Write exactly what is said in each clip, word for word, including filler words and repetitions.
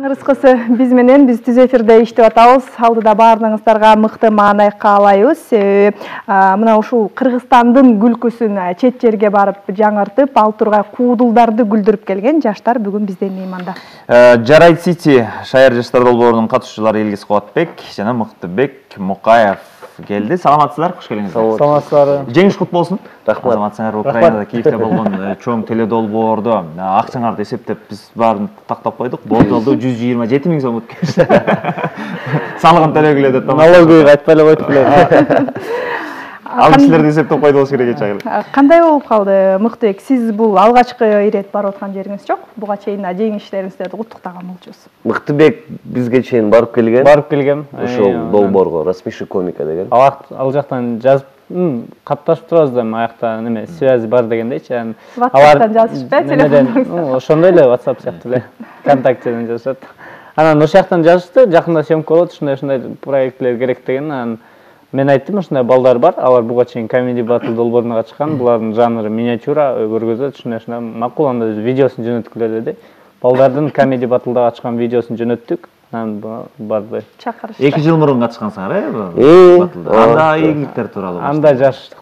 Кыскасы биз менен биз түз эфирде иштеп атабыз. Алдыда баарыңыздарга мыкты маанай каалайбыз. Себеби мына ушул Кыргызстандын күлкүсүн чет жерге барып жаңыртып, ал тургай куудулдарды күлдүрүп келген жаштар бүгүн бизден мейманда. Жарайт Сити шаар жаштар долбоорунун катышуучулары Элгиз Кубатбек жана Мыктыбек Мукаев келди. Саламатсыздар, куш келиңиздер. Саламатсыздар. Жеңиш кут болсун. Рахмат. Саламатсыңар. Украинада Киевде болгон чоң теледолбоордо акчаңарды эсептеп биз баарын тактап койдук. Болтолду жүз жыйырма жети миң сом өткөз. Салыгын төлөгүлө деп. Налоговый айтпай эле койтуп эле. Ал кишилерди эсептеп койду болуш керек эч агыл. Кандай болуп калды Мыктыбек? Сиз бул алгачкы ирет барып аткан жериңиз жок. Буга чейин жеңиштериңиздерди куттуктаган болчусуз. Мыктыбек бизге чейин барып келген. Барып келгем. Ошол долбоорго Рассмеши комика деген. Ал жактан жазып катташып турабыз да, аякта неме связи бар дегендейчи. WhatsApp'тан жазышпы, телефондон. Ошондой эле WhatsApp сыяктуу эле. ВКонтактеден жазышат. Анан ошол жактан жазышты, жакында съемка болот, ушундай-ушундай проектлер керек деген. Анан мен айттым, ушундай балдар бар, алар буга чейин Comedy Battle долбооруна катышкан, булардын жанры миниатюра көргөзөт, ушундай-ушундай макул, анда видеосун жөнөткүлө деди. Балдардын Comedy Battle'да катышкан видеосун жөнөттүк. Анан барды. Чакырышты. эки жыл мурун катышкансыңар, э? Анда ийгиликтер тууралуу. Анда жаштык.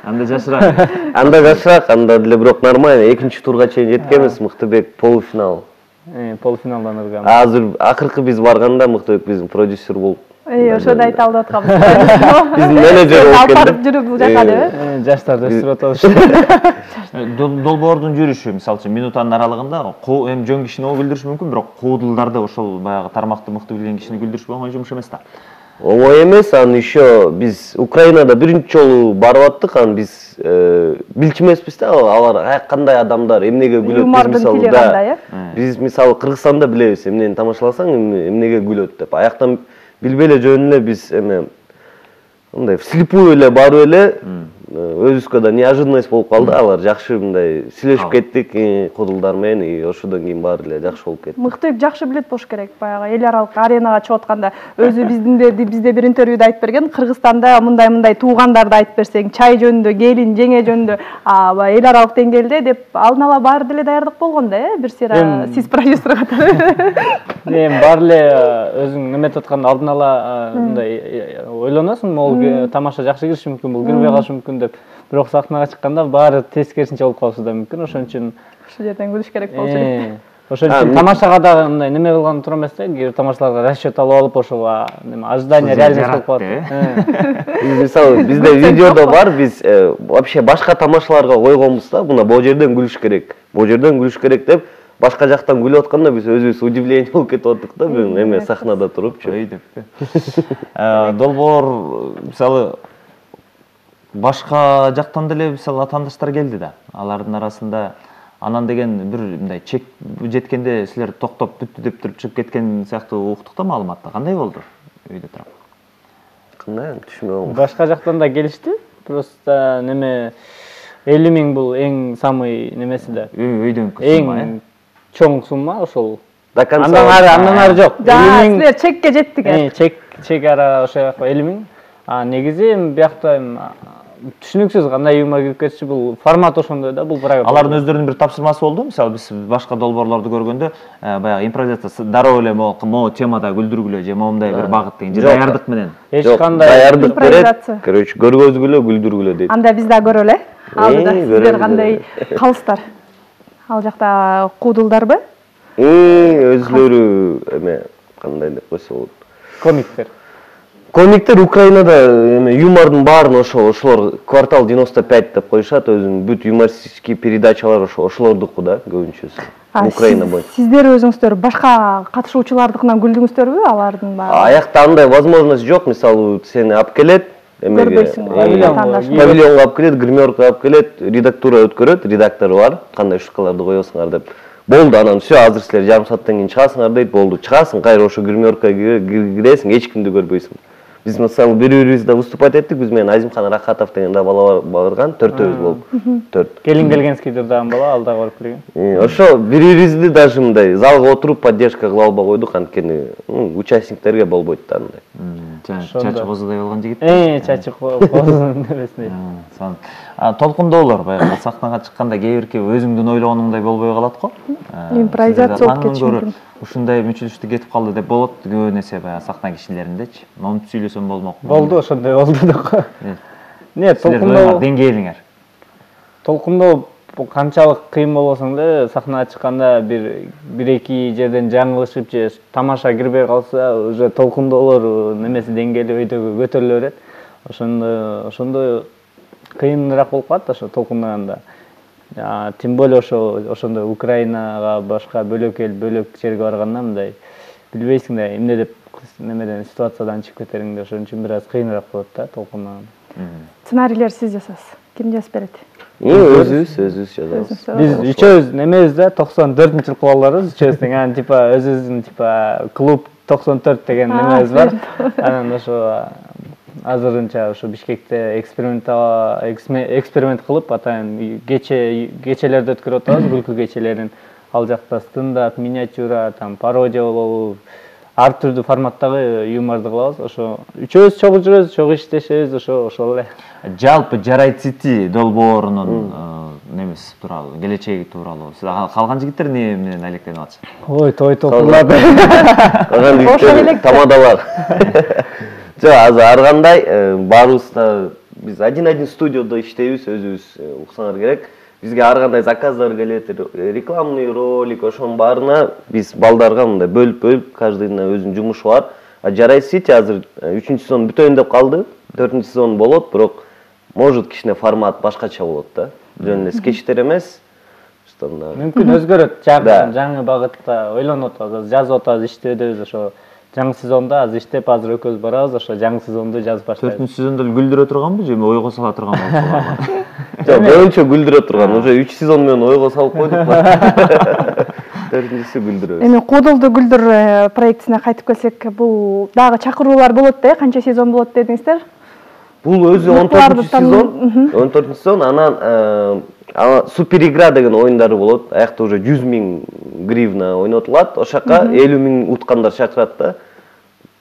Анда жашыраак. Анда жашыраак, анда деле бирок нормально. Экинчи турга чейин жеткенбиз, Мыктыбек полуфинал. Э, полуфиналдан ыргам. Азыр акыркы биз барганда Мыктыбек биздин продюсер болуп. Э, ошону айта алып атканбыз. Биздин менеджер болуп келди. Алып жүрүп бул жака деп. Э, жаштарды өстүрүп атабыз. Долбоордун жүрүшү, мисалы үчүн, минутанын аралыгында эми жөн кишини күлдүрүш мүмкүн, бирок куудулдарды ошол баягы тармакты мыкты билген кишини күлдүрүш оңой жумуш эмес да. Оңой эмес, аны еще биз Украинада биринчи жолу барып аттык, аны биз билчү эмеспиз да, алар кандай адамдар, эмнеге күлөт, биз мисалы да. Биз мисалы Кыргызстанда билебиз, эмнени тамашаласаң эмнеге күлөт деп. Аяктан билбей эле жөн эле биз эме мындай вслепую эле барып эле өзүбүзгө да неожиданность болуп калды. Алар жакшы мындай сүйлөшүп кеттик куудулдар менен, и ошодон кийин баары эле жакшы болуп кетти. Мыктыбек жакшы билет болуш керек. Баягы эл аралык аренага чыгып атканда өзү биздин бизде бир интервьюда айтып берген, Кыргызстанда мындай-мындай туугандарды айтып берсең, чай жөнүндө, келин, жеңе жөнүндө, а эл аралык деңгээлде деп алдын ала баары деле даярдык болгон да, э? Бир сыйра сиз продюсер катары. Эми баары эле өзүң эметип атканда алдын ала мындай ойлоносуң, могул тамаша жакшы кириши мүмкүн, бул кирбей калышы мүмкүн деп. Бирок сахнага чыкканда баары тескерисинче болуп калышы да мүмкүн. Ошон үчүн ушул жерден күлүш керек болчу керек. Ошон үчүн тамашага дагы мындай неме кылган туура эмес да, кээ бир тамашаларга расчет алып алып ошого неме ожидание реальность болуп калат. Мисалы бизде видеодо бар, биз вообще башка тамашаларга койгонбуз да, мына бул жерден күлүш керек, бул жерден күлүш керек деп башка жактан күлүп атканда биз өзүбүз удивление болуп кетип аттык да, бүгүн эме сахнада турупчу. Ой деп. Долбоор мисалы башка жактан деле мисалы атандаштар келди да. Алардын арасында анан деген бир мындай чек жеткенде силер токтоп бүттү деп туруп чыгып кеткен сыяктуу уктук да маалыматты. Кандай болду үйдө турап? Кандай түшүнбөйм. Башка жактан да келишти. Просто неме элүү миң бул эң самый немеси да. Үйдөн сумма, эң чоң сумма ошол. Андан ары, андан ары жок. Силер чекке жеттик. Э, чек чек ара ошо элүү миң. А негизи биякта түшүнүксүз кандай юмор кирип кетчү, бул формат ошондой да, бул программа. Алардын өздөрүнүн бир тапшырмасы болду. Мисалы биз башка долбоорлорду көргөндө баягы импровизация дароо эле могу темада күлдүргүлө же моундай бир багыт деген же даярдык менен. Эч кандай даярдык берет. Короче, көргөзгүлө, күлдүргүлө дейт. Анда биз да көрөлү. Алдыда сиздер кандай калыстар? Ал жакта куудулдарбы? Э, өзлөрү эме кандай деп койсо болот. Комиктер. Комиктер Украинада эме юмордун баарын ошо ошолор квартал девяносто пять деп коюшат, өзүнүн бүт юмористический передачалар ошо ошолордуку да көбүнчөсү. Украина боюнча. Сиздер өзүңүздөр башка катышуучулардыкынан күлдүңүздөрбү, алардын баары? Аякта андай возможность жок, мисалы сени алып келет, эмеге павильонго алып келет, гримерка алып келет, редактура өткөрөт, редактору бар, кандай шуткаларды коесуңар деп. Болду, анан все, азыр силер жарым сааттан кийин чыгасыңар дейт, болду. Чыгасың, кайра ошо гримеркага киресиң, эч кимди көрбөйсүң. Биз мисалы бири-бирибизде выступать эттик, биз менен Азимхан Рахатов деген да бала барган, төртөөбүз болуп. төрт. Келин Белгенский дагы бала ал дагы барып келген. Ошо бири-бирибизди даже мындай залга отуруп поддержка кыла албай койдук, анткени участниктерге болбойт да андай. Чачы козудай болгон жигит. Э, чачы козунун небесине. толкундоолор баягы сахнага чыкканда кээ бирки өзүңдүн ойлогонуңдай болбой калат го. Импровизация болуп кетиши мүмкүн. Ушундай мүчүлүштү кетип калды деп болот көбүн эсе баягы сахна кишилериндечи. Момунтип сүйлөсөм болмок. Болду, ошондой болду да. Не, толкундоо деңгээлиңер. Толкундоо канчалык кыйын болбосоң да, сахнага чыкканда бир бир эки жерден жаңылышып же тамаша кирбей калса, уже толкундоолор немеси деңгээли өйдөгө көтөрүлө берет. Ошондо ошондой кыйыныраак болуп калат ошо толкундаганда. Тем более ошо ошондой Украинага башка бөлөк эл, бөлөк жерге барганда мындай билбейсиң да эмне деп немеден ситуациядан чыгып кетериңди, ошон үчүн бир аз кыйыныраак болот да толкундаганда. Сценарийлер сиз жасайсыз. Ким жазып берет? Өзүбүз, өзүбүз жазабыз. Биз үчөөбүз немебиз да, токсон төртүнчү жылкы балдарбыз, үчөөбүз тең анан типа өзүбүздүн типа клуб токсон төрт деген немебиз бар. Анан ошо азырынча ошо Бишкекте экспериментал эксперимент кылып атайын кече кечелерди өткөрүп атабыз, күлкү кечелерин. Ал жакта стендап, миниатюра, там пародия болобу, ар түрдүү форматтагы юморду кылабыз. Ошо үчөөбүз чогуу жүрөбүз, чогуу иштешебиз, ошо ошол эле. Жалпы Жарайт Сити долбоорунун немеси тууралуу, келечеги тууралуу. Сиз калган жигиттер эмне менен алектенип атышат? Ой, той топурларды. Калган жигиттер тамадалар. Жок, азыр ар кандай баарыбыз да биз один-один студияда иштейбиз, өзүбүз уксаңар керек. Бизге ар кандай заказдар келет, рекламный ролик, ошонун баарына биз балдарга мындай бөлүп-бөлүп, каждыйына өзүнүн жумушу бар. А Жарайт Сити азыр үчүнчү сезон бүтөйүн деп калды. төртүнчү сезон болот, бирок может кичине формат башкача болот да. Жөн эле скетчтер эмес. Мүмкүн өзгөрөт, жаңы багытта ойлонуп атабыз, жазып атабыз, иштөөдөбүз ошо. Жаңы сезонда азыр иштеп, азыр экөөбүз барабыз, ошо жаңы сезонду жазып баштайбыз. төртүнчү сезондо гүлдүрө турганбы же ойго сала турган болчу? Жок, көбүнчө гүлдүрө турган. Уже үч сезон менен ойго салып койдук. төртүнчүсү гүлдүрөбүз. Эми Кодолду гүлдүр проектисине кайтып келсек, бул дагы чакыруулар болот да, канча сезон болот дедиңиздер? Бул өзү он төртүнчү сезон, он төртүнчү сезон, анан супер игра деген оюндары болот. Аякта уже жүз миң гривна ойнотулат. Ошакка элүү миң уткандар чакырат да.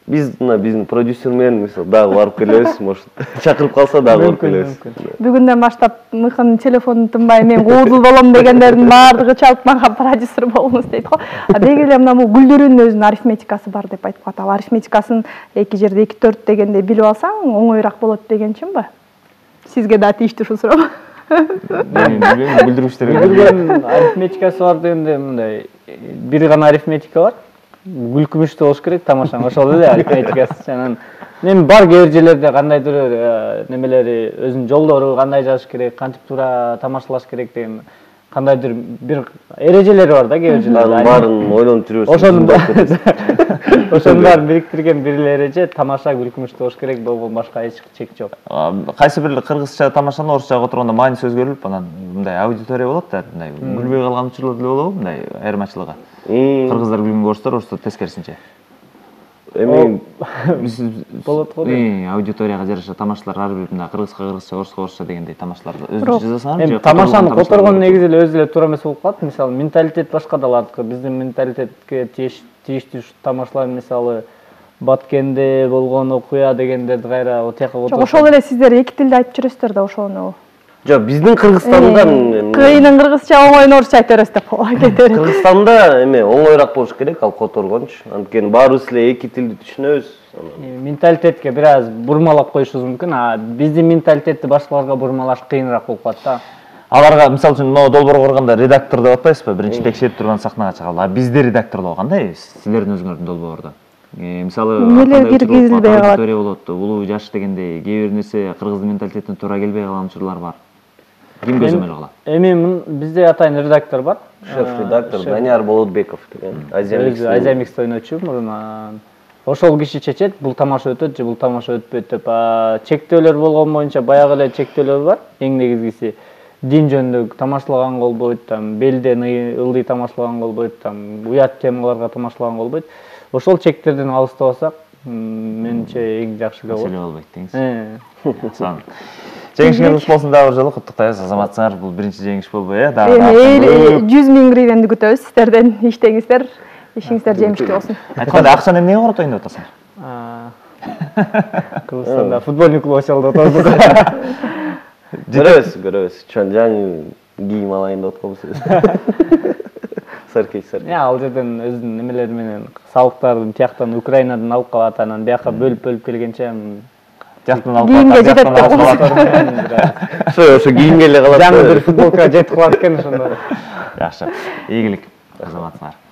Биз мына биздин продюсер менен мисалы дагы барып келебиз, может чакырып калса дагы барып келебиз. Бүгүндөн баштап мыхын телефонун тынбай мен коодул болом дегендердин баардыгы чалып мага продюсер болуңуз дейт го. А деги эле мына бул гүлдүрүүнүн өзүнүн арифметикасы бар деп айтып атат. Арифметикасын эки жерде эки төрт дегенде билип алсаң оңоюраак болот дегенчинби? Сизге да тийиштүү ушул суроо. Мен гүлдүрүүчүлөргө гүлдүрүүнүн арифметикасы бар дегенде мындай бир гана арифметика бар. Күлкүмүштүү болуш керек тамашаң, ошол эле арифметикасы. Анан эми бар кээ бир жерлерде кандайдыр немелери, өзүнүн жолдору кандай жазыш керек, кантип туура тамашалаш керек деген кандайдыр бир эрежелери бар да кээ бир жерлерде. Баарын ойлонуп жүрөсүң. Ошону ошонун баарын бириктирген бир эле эреже тамаша күлкүмүштүү болуш керек, болгон башка эч чек жок. Кайсы бир кыргызча тамашаны орусчага отурганда мааниси өзгөрүлүп, анан мындай аудитория болот да, мындай күлбөй калган учурлар деле болобу, мындай айырмачылыгы. Кыргыздар күлгөнгө орустар, орустар тескерисинче. Эми болот го. Аудиторияга жараша тамашалар ар бир мына кыргызга кыргызча, орусга орусча дегендей тамашаларды өзүнчө жасасаңар же тамашаны которгон негизи эле өзү эле туура эмес болуп калат. Мисалы, менталитет башка да алардыкы. Биздин менталитетке тийиштүү тамашалар, мисалы, Баткенде болгон окуя дегендерди кайра о тияка отуруп. Ошол эле сиздер эки тилде айтып жүрөсүздөр да ошону. Жок, биздин Кыргызстанда кыйынын кыргызча, оңоюн орусча айта бересиз деп кетер. Кыргызстанда эме оңоюраак болуш керек, ал которгончу. Анткени баарыбыз эле эки тилди түшүнөбүз. Менталитетке бир аз бурмалап коюшубуз мүмкүн, а биздин менталитетти башкаларга бурмалаш кыйыныраак болуп калат да. Аларга мисалы үчүн могу долбоорго барганда редактор деп атпайсызбы? Биринчи текшерип турган сахнага чыгалы. А бизде редакторлоо кандай? Силердин өзүңөрдүн долбоордо. Мисалы, эмнелер киргизилбей калат? Аудитория болот, улуу жаш дегендей, кээ бир нерсе кыргыздын менталитетине туура келбей калган учурлар бар. Ким көзөмөл кылат? Эми бизде атайын редактор бар. Шеф-редактор Данияр Болотбеков деген. Азия Микс ойночу мурун. Ошол киши чечет, бул тамаша өтөт же бул тамаша өтпөйт деп. Чектөөлөр болгон боюнча баягы эле чектөөлөр бар. Эң негизгиси дин жөнүндө тамашалаган болбойт, там белден ылдый тамашалаган болбойт, там уят темаларга тамашалаган болбойт. Ошол чектерден алыстабасак, менимче эң жакшы болот. Маселе болбойт деңиз. Жеңишиңер куту болсун дагы бир жолу, куттуктайбыз азаматсыңар. Бул биринчи жеңиш болбой э, дагы. Эми жүз миң гривенди күтөбүз сиздерден, иштеңиздер, ишиңиздер жемиштүү болсун. Айткандай, акчаны эмнеге каратайын деп атасың? Кыргызстанда футбольный клуб ачалы деп атабыз. Көрөбүз, көрөбүз. Чон жаңы кийим алайын деп атканбыз. Саркей, саркей. Я, ал жерден өзүнүн немелери менен салыктардын тияктан Украинадан алып калат, анан бияка бөлүп-бөлүп келгенче жактан алып кийимге жетет деп Ошо ошо кийимге эле калат. Жаңы бир футболка жетип калат экен ошондо. Жакшы. Ийгилик. Азаматыңар.